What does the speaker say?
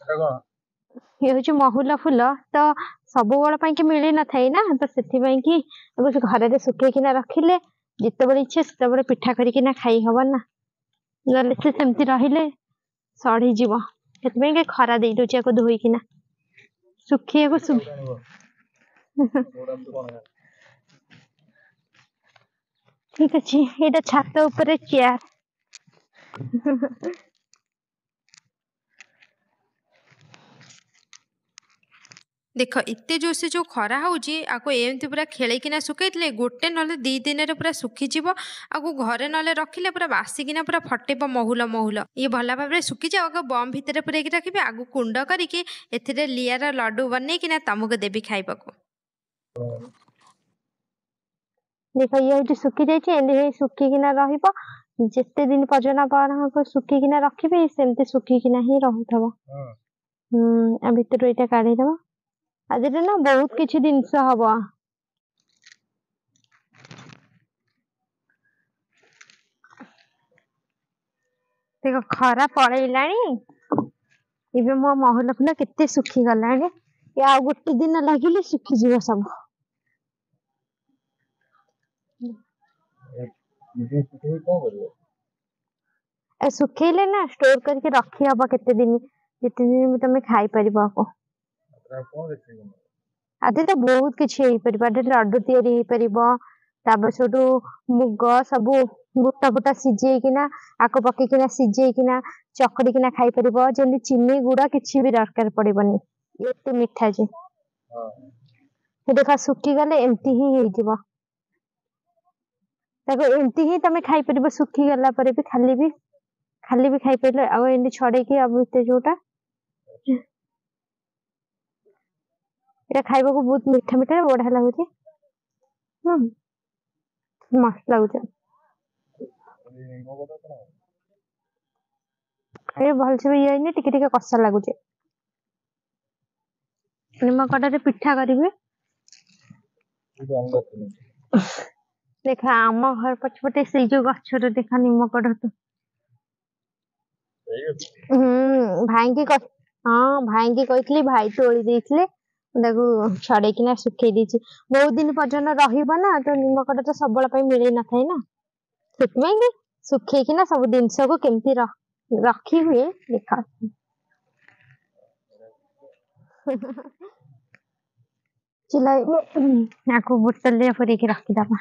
ସେଟା କଣ? ଇଏ ହଉଛି ମହୁଲ ଫୁଲ। ତ ସବୁବେଳ ପାଇଁ କି ମିଳି ନଥାଏ ନା, ତ ସେଥିପାଇଁ କି ତାକୁ ଘରରେ ଶୁଖେଇକିନା ରଖିଲେ ଯେତେବେଳେ ଇଚ୍ଛା ସେତେବେଳେ ପିଠା କରିକିନା ଖାଇ ହବ ନା। ନହେଲେ ସେ ସେମିତି ରହିଲେ ସଢିଯିବ। ସେଥିପାଇଁ କି ଖରା ଦେଇ ଦଉଛି ଆକୁ ଧୋଇକିନା ଶୁଖେଇବାକୁ। କୋଉଠୁ ଆଣିବ? କୋଉଟା ଏମିତି କଣ? ଠିକ ଅଛି, ଏଇଟା ଛାତ ଉପରେ ଚେୟାର। ଦେଖ, ଏତେ ଜୋରସେ ଯେଉଁ ଖରା ହେଉଛି, ଆକୁ ଏମିତି ପୁରା ଖେଳେଇକିନା ଶୁଖେଇଥିଲେ ଗୋଟେ ନହେଲେ 2 ଦିନରେ ପୁରା ଶୁଖିଯିବ। ଆକୁ ଘରେ ନହେଲେ ରଖିଲେ ପୁରା ବାସିକିନା ପୁରା ଫଟେଇବ ମହୁଲ ମହୁଲ। ଇଏ ଭଲ ଭାବରେ ଶୁଖିଯାଉ, ଆଗ ବମ୍ ଭିତରେ ପୁରେଇକି ରଖିବି। ଆଗକୁ କୁଣ୍ଡ କରିକି ଏଥିରେ ଲିଆର ଲଡ଼ୁ ବନେଇକିନା ତମକୁ ଦେବି ଖାଇବାକୁ। ଦେଖ, ଇଏ ହଉଛି ଶୁଖି ଯାଇଛି। ଏମିତି ହେଇ ଶୁଖିକିନା ରହିବ ଯେତେ ଦିନ ପର୍ଯ୍ୟନ୍ତ ଆପଣ ଶୁଖିକିନା ରଖିବେ, ସେମିତି ଶୁଖିକିନା ହିଁ ରହୁଥିବ। ହୁଁ, ଆ ଭିତରୁ ଏଇଟା କାଢିଦବା। ଆଜିରେ ନା ବହୁତ କିଛି ଜିନିଷ ହବ। ଦେଖ, ଖରା ପଳେଇଲାଣି ଏବେ। ମୋ ମହୁଲ ଫୁଲ କେତେ ଶୁଖିଗଲାଣି। ଏ ଆଉ ଗୋଟେ ଦିନ ଲାଗିଲେ ଶୁଖିଯିବ ସବୁ। କଣ କରିବ? ଏ ଶୁଖେଇଲେ ନା ଷ୍ଟୋର କରିକି ରଖି ହବ କେତେ ଦିନ, ଯେତେ ଦିନ ବି ତମେ ଖାଇପାରିବ ଆକୁ। କଣ ରେସିପି? ଆଜି ତ ବହୁତ କିଛି ହେଇପାରିବ। ଆଜି ଲଡୁ ତିଆରି ହେଇପାରିବ। ତାପରେ ସେଠୁ ମୁଗ ସବୁ ବୁଟ ଫୁଟ ସିଝେଇକିନା, ଆକୁ ପକେଇକିନା ସିଝେଇକିନା ଚକଡିକିନା ଖାଇପାରିବ। ଯେମିତି ଚିନି ଗୁଡ କିଛି ବି ଦରକାର ପଡିବନି, ଏତେ ମିଠା ଯେ। ଦେଖ, ଶୁଖିଗଲେ ଏମିତି ହିଁ ହେଇଯିବ। ତାକୁ ଏମିତି ହିଁ ତମେ ଖାଇପାରିବ। ଶୁଖିଗଲା ପରେ ବି ଖାଲି ବି ଖାଇପାରିଲ। ଆଉ ଏମିତି ଛଡେଇକି ଆଉ ଭିତରେ ଯୋଉଟା, ଏଇଟା ଖାଇବାକୁ ବହୁତ ମିଠା ମିଠା ବଢିଆ ଲାଗୁଛି। ହୁଁ, ମସ୍ତ ଲାଗୁଛି। ଏ ଭଲସେ ବି ଇଏ ହେଇନି, ଟିକେ ଟିକେ କଷା ଲାଗୁଛି। ନିମ କଡରେ ପିଠା କରିବି। ଦେଖ, ଆମ ଘର ପଛପଟେ ସେଇ ଯୋଉ ଗଛରୁ ଦେଖ ନିମ କଢ। ହୁଁ, ଭାଇଙ୍କି, ହଁ, ଭାଇଙ୍କି କହିଥିଲି, ଭାଇ ତୋଳି ଦେଇଥିଲେ। ତାକୁ ଛଡେଇକିନା ଶୁଖେଇ ଦେଇଛି। ବହୁତ ଦିନ ପର୍ଯ୍ୟନ୍ତ ରହିବ ନା। ତ ନିମ କଢ ତ ସବୁବେଳ ପାଇଁ ମିଳି ନଥାଏ ନା, ସେଥିପାଇଁ କି ଶୁଖେଇକିନା ସବୁ ଜିନିଷକୁ କେମିତି ରଖି ହୁଏ ଦେଖ। ଆକୁ ବୋତଲରେ ପୁରେଇକି ରଖିଦବା।